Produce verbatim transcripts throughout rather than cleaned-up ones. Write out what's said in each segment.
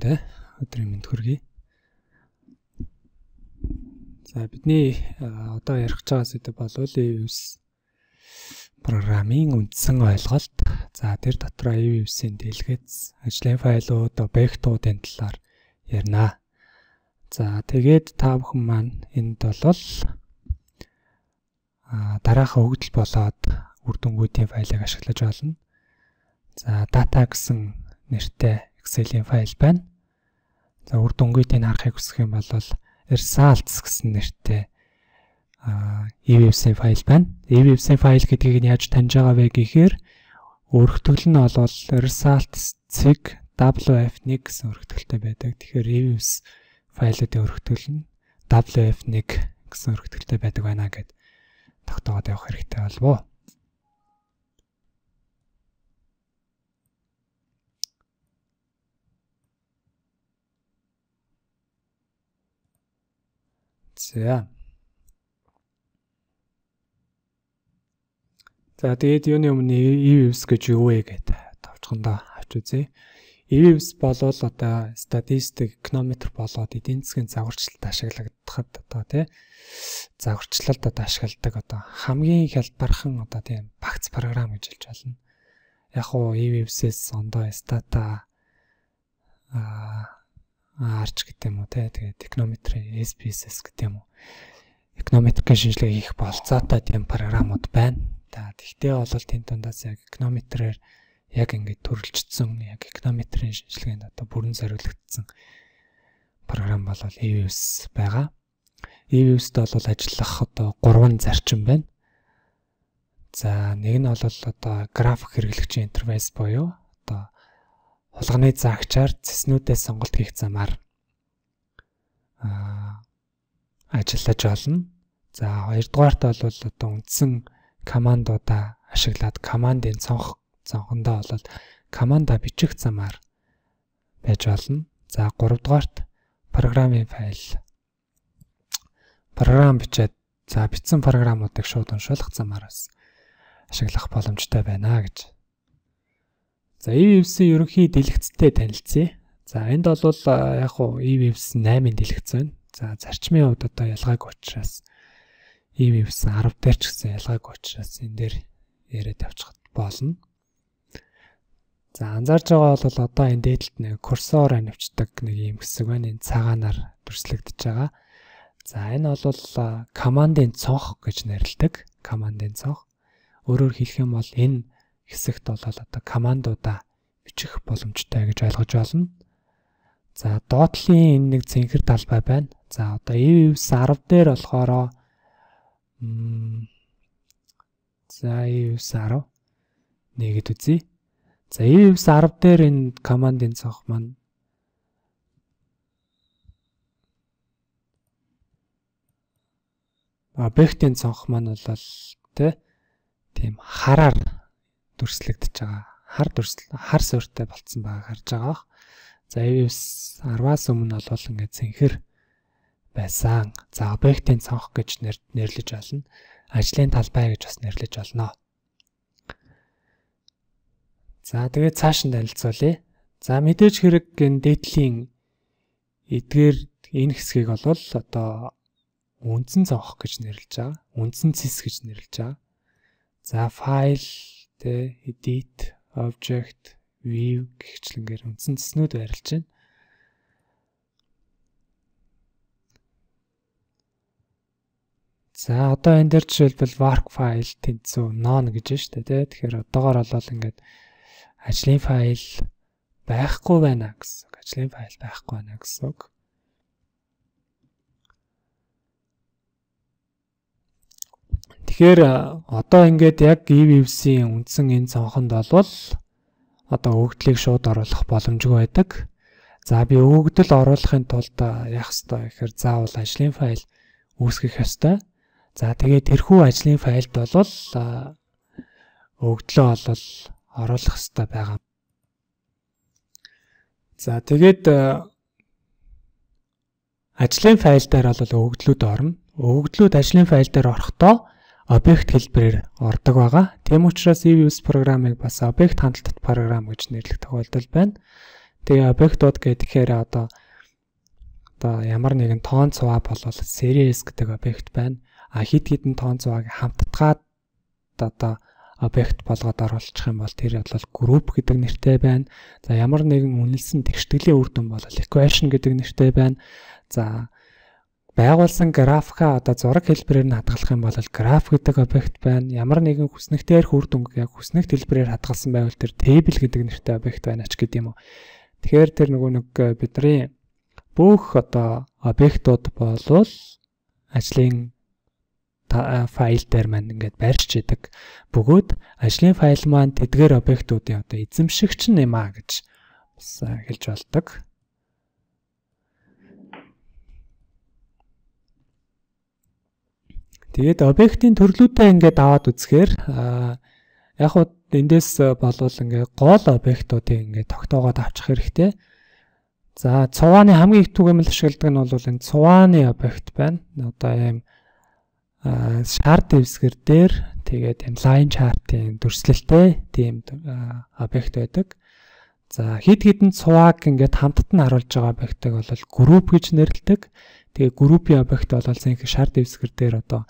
бүхэндээ өдрийн мэнд хүргэе. За бидний одоо ярих байгаа зүйл бол и ви эс программын үндсэн ойлголт. За тэр дотроо и ви эс-ийн дэлгэц, ажлын файлууд, объектуудын талаар ярина. За тэгээд та бүхэн маань энд бол дараахан хөгжил болоод үр дүнгуудын файлыг ашиглаж болно. За data гэсэн нэртэй Excel-ийн файл байна. За үр дүнгуудыг харахыг хүсэх юм бол results гэсэн нэртэй и ви эс-ийн файл байна. и ви эс-ийн файл гэдгийг нь яаж таньж байгаа вэ гэхээр өргөтгөл нь бол results-ийг дабл ю эф one гэсэн өргөтгөлтэй байдаг. Тэгэхээр и ви эс файлуудын өргөтгөл нь дабл ю эф one гэсэн өргөтгөлтэй байдаг байна гэд тогтоогоод явах хэрэгтэй болов. За. За тэгээд юуны өмнө и ви эс гэж юу вэ гэдэг товчхондоо авч үзье. и ви эс болол одоо статистик, эконометр болоод эдийн засгийн загварчлалд ашиглагдахад одоо тий загварчлалд одоо ашигладаг одоо хамгийн хялбархан одоо тийм багц програм гэж хэлж байна. Яг уу и ви эс-с ондоо стата а арч гэдэг юм уу тий тэгээд эконометрийн эс пи эс эс гэдэг юм уу. Эконометрийн шинжилгээ хийх болцоотой тийм програмууд байна. За тэгтээ бол тэнд дундаас яг эконометрээр яг ингээд төрөлжсөн яг эконометрийн шинжилгээнд одоо бүрэн зориулагдсан програм бол и ви эс байгаа. и ви эс-д бол ажиллах одоо гурван зарчим байна. За нэг нь бол одоо график хэрэглэгчийн интерфейс буюу одоо хулганы заагчаар цэснүүдээс сонголт хийх замаар аа ажиллаж болно. За хоёрдугаарт бол одоо үндсэн командуудаа ашиглаад командын цонх цонхондоо бол команда бичих замаар байж болно. За гуравдугаарт программын файл програм бичээд за бичсэн програмуудыг шууд уншуулах замаар бас ашиглах боломжтой байна гэж. За и ви эс-ийн ерөнхий дэлгэцтэй танилцъя. За энд бол яг уу и ви эс eight дэлгэц байна. За зарчмын хувьд одоо ялгаагүй учраас и ви эс ten дээр ч гэсэн ялгаагүй учраас энэ дээр яриад явчих болно. За анзаарч байгаа бол одоо энэ дээдлэлт нэг курсор анивчдаг нэг юм хэсэг байна. Энэ цагаанаар дүрслэгдэж байгаа. За энэ бол командын цонх гэж нэрлэдэг. Командын цонх. Өөрөөр хэлэх юм бол энэ хэсэгт бол одоо командуудаа бичих боломжтой гэж ойлгож байна. За доотлын энэ нэг цэнхэр талбай байна. За одоо и ви эс ten дээр болохоор за и ви эс ten нэгэд үзье. За и ви эс ten дээр энэ командын цонх маань объектын цонх маань бол тэ тийм хараар дүрслэгдэж байгаа. Хар дүрсэл хар суурьтай болцсон байгааг харж байгаа. За и ви эс ten-аас өмнө бол ингээд цэнхэр байсан. За объектын цонх гэж нэрлэж болно. Ажлын талбай гэж бас нэрлэж болно. За тэгээд цааш нь танилцуулъя. За мэдээж хэрэг энэ дээдлийн эдгээр энэ хэсгийг бол одоо үндсэн цонх гэж нэрлэж байгаа. Үндсэн цэс гэж нэрлэж байгаа. За файл, тэ edit, object, view гихчлэнгээр үндсэн цэснүүд байрлаж байна. За одоо энэ дээр жишээлбэл work file тэнцүү none гэж байна шүү дээ, тэ. Тэгэхээр одоогоор бол ингээд ажлын файл байхгүй байна гэсэн. Ажлын файл байхгүй байна гэсэн үг. Тэгэхээр одоо ингээд яг и ви эс-ийн үндсэн энэ цонхонд бол одоо өгөгдлийг шууд оруулах боломжгүй байдаг. За би өгөгдөл оруулахын тулд яах ёстой гэхээр заавал ажлын файл үүсгэх ёстой. За тэгээд тэрхүү ажлын файлд бол өгөгдлөө бол оруулах ёстой байгаа. За тэгээд ажлын файл дээр бол өгөгдлүүд орно. Өгөгдлүүд ажлын файл дээр орохдоо объект хэлбэрээр ордог байгаа. Тийм учраас и ви эс программыг бас объект хандлалт програм гэж нэрлэх тохиолдол байна. Тэгээ объектууд гэхээр одоо одоо ямар нэгэн тоон цуваа болвол series гэдэг объект байна. А хид хідэн тоон цувааг хамтдгаад одоо объект болгоод оруулчих юм бол тэр бол group гэдэг нэртэй байна. За ямар нэгэн үнэлсэн тэгштгэлийн үр дүн бол equation гэдэг нэртэй байна. За байгуулсан графика одоо зураг хэлбэрээр нь хадгалах юм бол граф гэдэг объект байна. Ямар нэгэн хүснэгт дээрх үр дүнг яг хүснэгт хэлбэрээр хадгалсан байвал тэр table гэдэг нэртэй объект байна ч гэдэг юм уу. Тэгэхээр тэр нөгөө нэг бидний бүх одоо объектууд болвол ажлын файл дээр маань ингээд барьж идэг. Бөгөөд ажлын файл маань тэдгээр объектуудын одоо эзэмшигч юм а гэж бас хэлж болдог. Тэгээд объектын төрлүүдээ ингээд аваад үзэхээр яг хуу эндээс болвол ингээд гол объектуудыг ингээд тогтоогоод авчих хэрэгтэй. За цувааны хамгийн их түгээмэл ашигладаг нь бол энэ цувааны объект байна. Одоо ийм шар дэвсгэр дээр тэгээд энэ line chart-ийн дүрслэлтэй тийм объект байдаг. За хид хідэн цувааг ингээд хамтд нь харуулж байгаа объектыг бол group гэж нэрлэдэг. Тэгээ группийн объект бол зинхэнэ шар дэвсгэр дээр одоо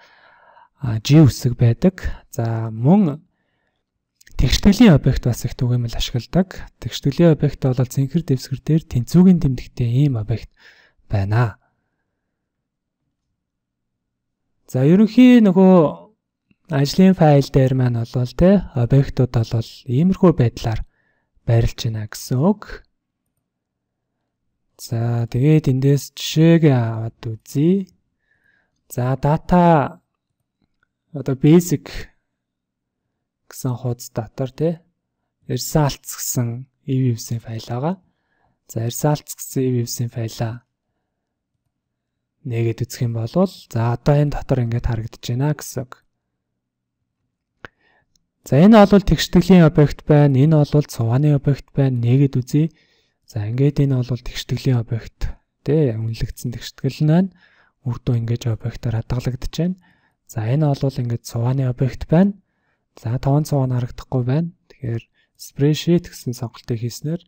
G үсэг байдаг. За мөн тэгштгэлийн объект бас их түгээмэл ашигладаг. Тэгштгэлийн объект бол зинхэр дэвсгэр дээр тэнцвүүгийн тэмдэгтэй ийм объект байна. За ерөнхий нөгөө ажлын файл дээр маань бол тэ объектууд бол иймэрхүү байдлаар байрлаж байна гэсэн үг. За тэгээд эндээс жишээг аваад үзье. За data одоо basic гэсэн хуудас дотор тий results гэсэн evs-ийн файл байгаа. За results гэсэн evs-ийн файлаа нэгэд үзэх юм бол за одоо энэ дотор ингээд харагдаж байна гэсэн үг. За энэ бол тэгштгэлийн объект байна. Энэ бол цувааны объект байна. Нэгэд үзье. За ингээд энэ бол тэгштгэлийн объект тий үнэлэгдсэн тэгштгэл нь үр дүн ингэж объектоор хадгалагдаж байна. За энэ бол ингээд цувааны объект байна. За тоон цуваа нь харагдахгүй байна. Тэгэхээр spreadsheet гэсэн сонголтыг хийснээр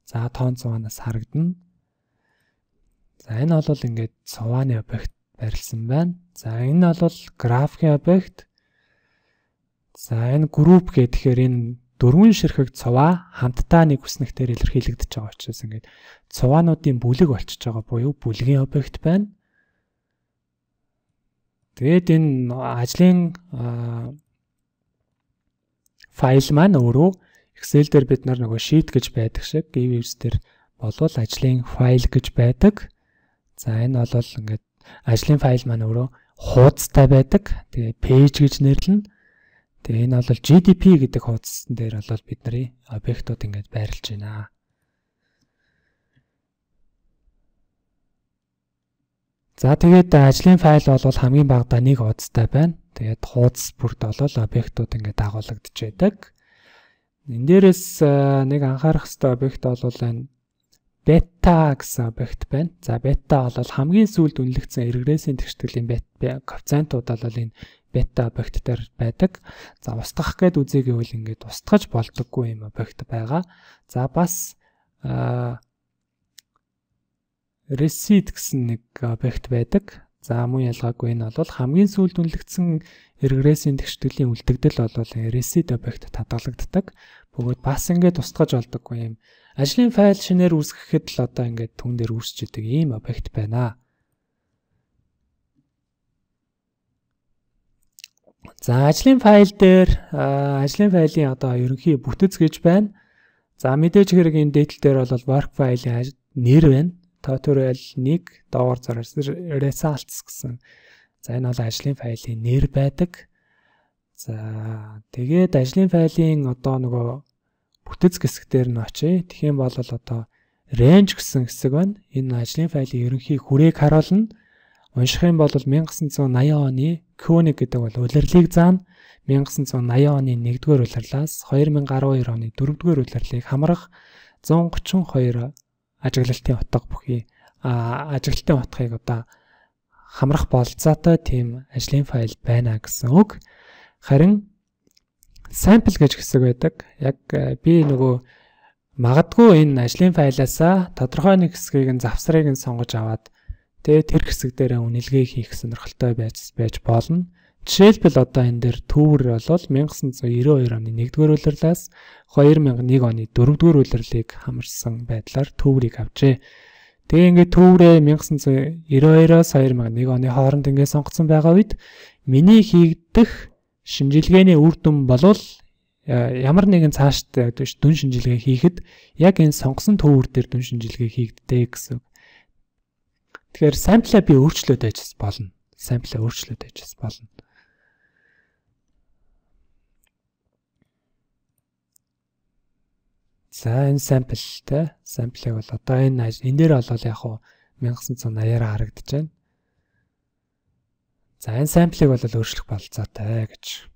за тоон цуваанаас харагдана. За энэ бол ингээд цувааны объект барилсан байна. За энэ бол графикийн объект. За энэ group гэхээр энэ дөрвөн ширхэг цуваа хамтдаа нэг хүснэгтээр илэрхийлэгдэж байгаа учраас ингээд цуваануудын бүлэг болчихж байгаа буюу бүлгийн объект байна. Тэгээд энэ ажлын файл маань өөрөө Excel дээр бид нар нөгөө sheet гэж байдаг шиг evs дээр болвол ажлын файл гэж байдаг. За энэ бол ингээд ажлын файл маань өөрөө хуудастай байдаг. Тэгээ page гэж нэрлэнэ. Тэгээ энэ бол G D P гэдэг хуудсан дээр бол бидний объектууд ингээд байрлаж байна. За тэгээд ажлын файл бол хамгийн багадаа нэг хуудастай байна. Тэгээд хуудас бүрт бол объектууд ингээд дагуулгадж байдаг. Энэ дээрээс нэг анхаарах ёстой объект бол энэ beta гэсэн объект байна. За beta бол хамгийн сүүлд үнэлэгдсэн регрессийн тэгштгэлийн коэффициентууд бол энэ бета объект дээр байдаг. За устгах гээд үзье гэвэл ингээд устгаж болдоггүй юм объект байгаа. За бас receipt гэсэн нэг объект байдаг. За мөн ялгаагүй энэ бол хамгийн сүүлд үнэлэгдсэн регрессийн тэгштгэлийн үлдэгдэл бол receipt объект хадгалагддаг. Бөгөөд бас ингээд устгаж болдоггүй юм. Ажлын файл шинээр үүсгэхэд л одоо ингээд түн дээр үүсч идэг ийм объект байна. За ажлын файл дээр ажлын файлын одоо ерөнхий бүтэц гэж байна. За мэдээж хэрэг энэ дээдл дээр бол work файлын нэр байна. Tutorial one доогоор зараас results гэсэн. За энэ бол ажлын файлын нэр байдаг. За тэгээд ажлын файлын одоо нөгөө бүтэц хэсэг дээр нь очие. Тэгэх юм бол одоо range гэсэн хэсэг байна. Энэ ажлын файлын ерөнхий хүрээг харуулна. Унших юм бол nineteen eighty оны Q one гэдэг бол улирлыг заана. nineteen eighty оны нэгдүгээр улирлаас twenty twelve оны дөрөвдүгээр улирлыг хамрах one thirty-two ажиглалтын утга бүхий ажиглалтын утгыг одоо хамрах болцоотой тийм ажлын файл байна гэсэн үг. Харин sample гэж хэсэг байдаг. Яг би нөгөө магадгүй энэ ажлын файлаасаа тодорхой нэг хэсгийг нь завсрыг нь сонгож аваад тэгээ тэр хэсэг дээр үнэлгээ хийх сонирхолтой байж байж болно. Жишээлбэл одоо энэ дээр төвөр бол 천구 девяносто two оны нэгдүгээр улирлаас two thousand one оны дөрөвдүгээр улирлыг хамарсан байдлаар төврийг авчээ. Тэгээ ингээд төврээ 천구 девяносто two-оос two thousand one оны хооронд ингээд сонгоцсон байгаа үед миний хийгдэх шинжилгээний үр дүн болвол ямар нэгэн цаашдаа дүн шинжилгээ хийхэд яг энэ сонгосон төвөр дээр дүн шинжилгээ хийгддэг гэсэн. Тэгэхээр самплаа би өөрчлөөд ажиж болно. Самплаа өөрчлөөд ажиж болно. За энэ самплтай самплыг бол одоо энэ энэ дээр бол яг хуу 천구 eighty-аар харагдаж байна. За энэ самплыг бол өөрчлөх болцоотой гэж.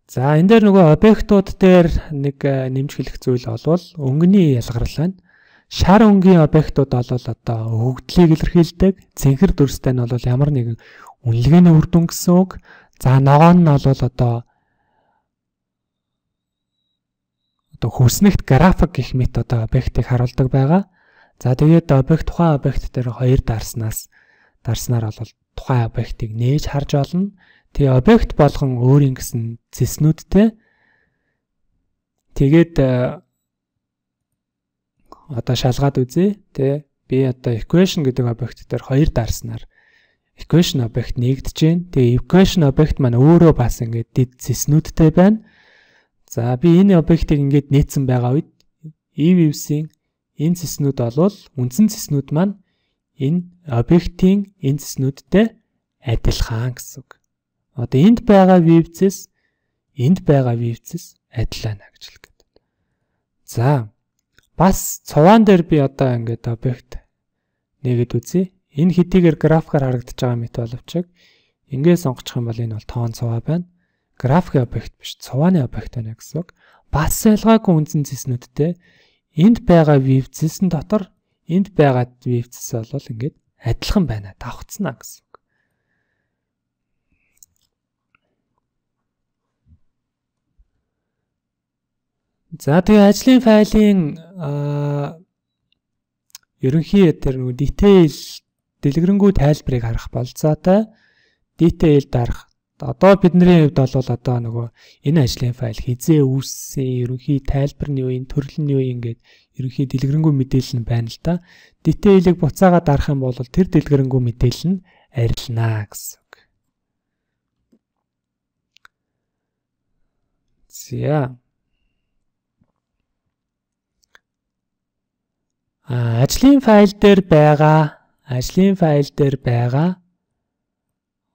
За энэ дээр нөгөө объектууд дээр нэг нэмж хэлэх зүйл болвол өнгөний ялгарл байна. Шар өнгийн объектууд бол одоо өгөгдлийг илэрхийлдэг. Цэнхэр дүрстэй нь бол ямар нэгэн үнэлгээний үр дүн гэсэн үг. За ногоон нь бол одоо одоо хүснэгт график гэх мэт одоо объектыг харуулдаг байгаа. За тэгээд объект тухайн объект дээр хоёр дарснаас дарснаар бол тухайн объектыг нээж харж олно. Тэгээ объект болгон өөрийн гэсэн зэснүүдтэй. Тэгээд одоо шалгаад үзье. Тэ би одоо equation гэдэг объект дээр хоёр дарснаар equation объект нэгдэж байна. Тэгээ equation объект маань өөрөө бас ингээд дэд зэснүүдтэй байна. За би энэ объектыг ингээд нээсэн байгаа үед eViews-ийн энэ зэснүүд бол үндсэн зэснүүд маань энэ объектийн энэ зэснүүдтэй адилхан гэсэн үг. Одоо энд байгаа views-с энд байгаа views-с адилхан гэж хэлэх гэдэг. За бас цуваан дээр би одоо ингээд объект нэгэд үзье. Энэ хэдийгээр графикаар харагдаж байгаа мэт боловч ингээд сонгочих юм бол энэ бол тоон цуваа байна. Графикийн объект биш, цувааны объект байна гэсэн үг. Бас ялгаагүй үндсэн зэснүүдтэй энд байгаа views-сэн дотор энд байгаа views-с бол ингээд адилхан байна. Давхцнаа гэсэн үг. За тэгээ ажлын файлын ерөнхий тэр нэг detail дэлгэрэнгүй тайлбарыг харах болцоотой. Detail дарах. Одоо бидний хувьд бол одоо нөгөө энэ ажлын файл хизээ үүссэн, ерөнхий тайлбар нь юу, энэ төрөл нь юу ингээд ерөнхий дэлгэрэнгүй мэдээлэл нь байна л да. Detail-ийг буцаагаад дарах юм бол тэр дэлгэрэнгүй мэдээлэл нь арилнаа гэсэн үг. За А ажлын файл дээр байгаа ажлын файл дээр байгаа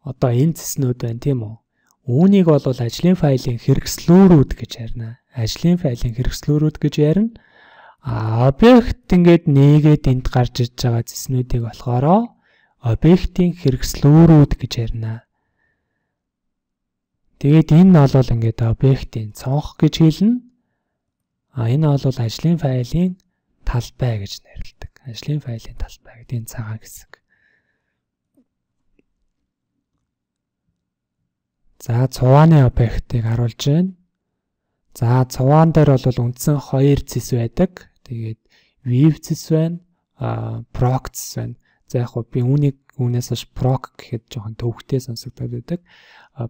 одоо энэ зэснүүд байна тийм үү? Үүнийг бол ажлын файлын хэрэгслүүрүүд гэж ярина. Ажлын файлын хэрэгслүүрүүд гэж ярина. А объект ингээд нээгээд энд гарч иж байгаа зэснүүдийг болохоор объектийн хэрэгслүүрүүд гэж ярина. Тэгээд энэ бол ингээд объектийн цонх гэж хэлнэ. А энэ бол ажлын файлын талбай гэж нэрлэдэг. Ажлын файлын талбай гэдэг энэ цагаан хэсэг. За цувааны объектыг харуулж байна. За цуваан дээр бол үндсэн хоёр зэс байдаг. Тэгээд view зэс байна, а proc зэс байна. За яг хөө би үүнийг үүнээс хойш proc гэхэд жоохон төвхтэй сонсогдоод байдаг.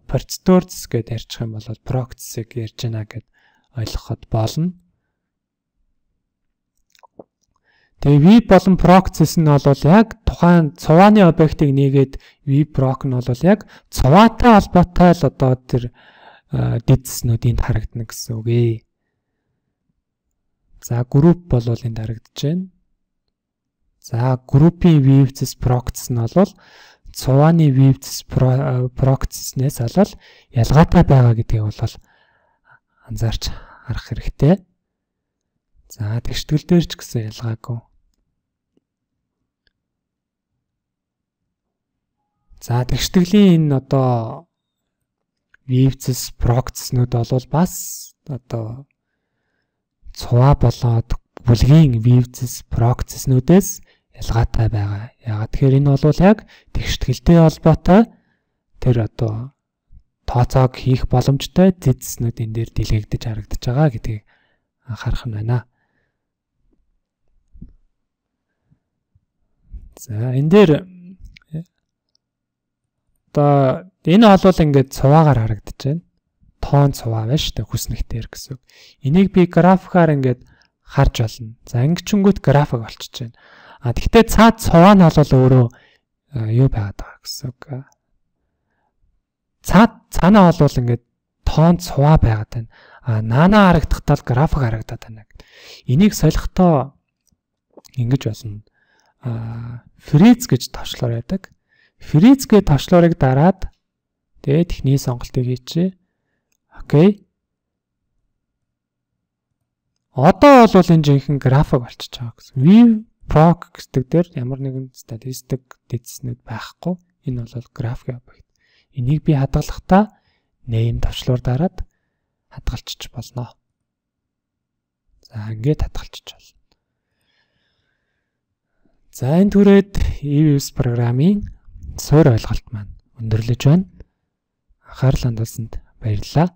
Процедур зэс гэдээ ярьчих юм бол proc зэсийг ярьж байна гэд ойлгоход болно. Тэгээ view болон proc зэс нь бол яг тухайн цувааны объектыг нээгээд view proc нь бол яг цуваатай холбоотой л одоо тэр дэдснүүд энд харагдана гэсэн үг ээ. За group бол энд харагдаж байна. За group-ийн view зэс proc зэс нь бол цувааны view зэс proc зэснээс бол ялгаатай байгаа гэдгийг бол анзаарч харах хэрэгтэй. За тэгштгэл дээр ч гэсэн ялгаагүй. За тэгштгэлийн энэ одоо views proc-снүүд бол бас одоо цуваа болоод бүлгийн views proc-снүүдээс ялгаатай байгаа. Яагаад тэгэхээр энэ бол яг тэгшгэлтэй холбоотой тэр одоо тооцоог хийх боломжтой зэдснүүд энэ дээр дэлгэгдэж харагдаж байгаа гэдгийг анхаарах нь байна. За энэ дээр одоо энэ бол ингээд цуваагаар харагдаж байна. Тоон цуваа байна шүү дээ хүснэгтэр гэсэн. Энийг би графикаар ингээд харж болно. За ингэчингүүт график болчихж байна. А тэгтээ цаад цуваа нь бол өөрөө юу байгаад байгаа гэсэн үг. Цаад цаанаа бол ингээд тоон цуваа байгаад байна. А наана харагдахтаа график харагдаад байна. Энийг солихдоо ингэж болно. А фриз гэж товчлоор байдаг. Фриз гэж товчлоорыг дараад тэгээд техникийн сонголтыг хийчихье. Окей. Одоо бол энэ жинхэнэ график болчихж байгаа гэсэн. View proc гэдэг дээр ямар нэгэн статистик дэцснүүд байхгүй. Энэ бол график объект. Энийг би хадгалахдаа name товчлоор дараад хадгалчих болно. За ингээд хадгалчих болно. За энэ түрээд E-Views программын суур ойлголт маань өндөрлөж байна. Анхаарал хандуулсанд баярлалаа.